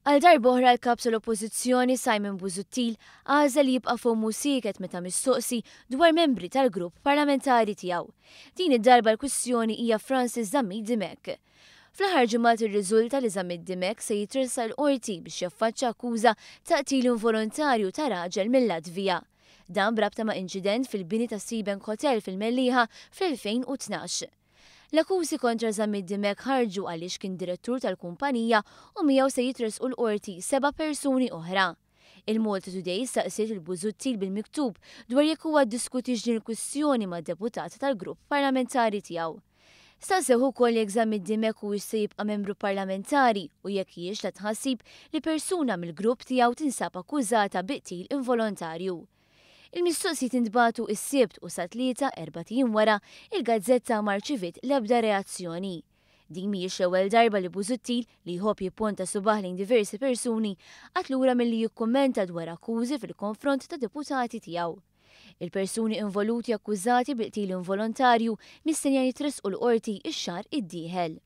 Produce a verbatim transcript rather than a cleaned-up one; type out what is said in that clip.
Għal darb'oħra l-kap tal-Oppożizzjoni Simon Busuttil għażel li jibqa' fommu sieket meta mistoqsi dwar membri tal-grupp parlamentari tiegħu. Din id-darba l-kwistjoni hija Francis Zammit Dimech. Fl-aħħar ġimgħat irriżulta li Zammit Dimech se jitressaq il-qorti biex jaffaċċa akkuża ta' qtil involontarju ta' raġel mill-Latvija. Dan b'rabta ma' inċident fil-bini ta' Seabank Hotel fil-Mellieħa fl-elfejn u tnax. L-akkużi kontra Zammit Dimech ħarġu għaliex kien direttur tal-kumpanija u miegħu se jitressqu l-qorti seba' persuni oħra. Il-Malta Today staqsiet il-Busuttil bil-miktub dwar jekk huwa ddiskutix din il-kwistjoni ma' deputat tal-grupp parlamentari tiegħu. Staqsew ukoll jekk Zammit Dimech huwiex se jibqa' membru parlamentari u jekk hijiex ta' tħassib li persuna mill-grupp tiegħu tinsab akkużata bi qtil involontarju. Il-mistoqsijiet intbagħtu is-Sibt u sa tlieta erbat ijiem wara il-gazzetta ma rċiviet l-ebda reazzjoni. Din mhijiex l-ewwel darba li Busuttil, li jħobb jipponta subaħ lejn diversi persuni, qagħad lura milli jikkummenta dwar akkużi fil-konfront ta' deputati tiegħu. Il-persuni involuti akkużati bil-qtil involontarju mistennija jitressqu l-qorti ix-xahar id-dieħel.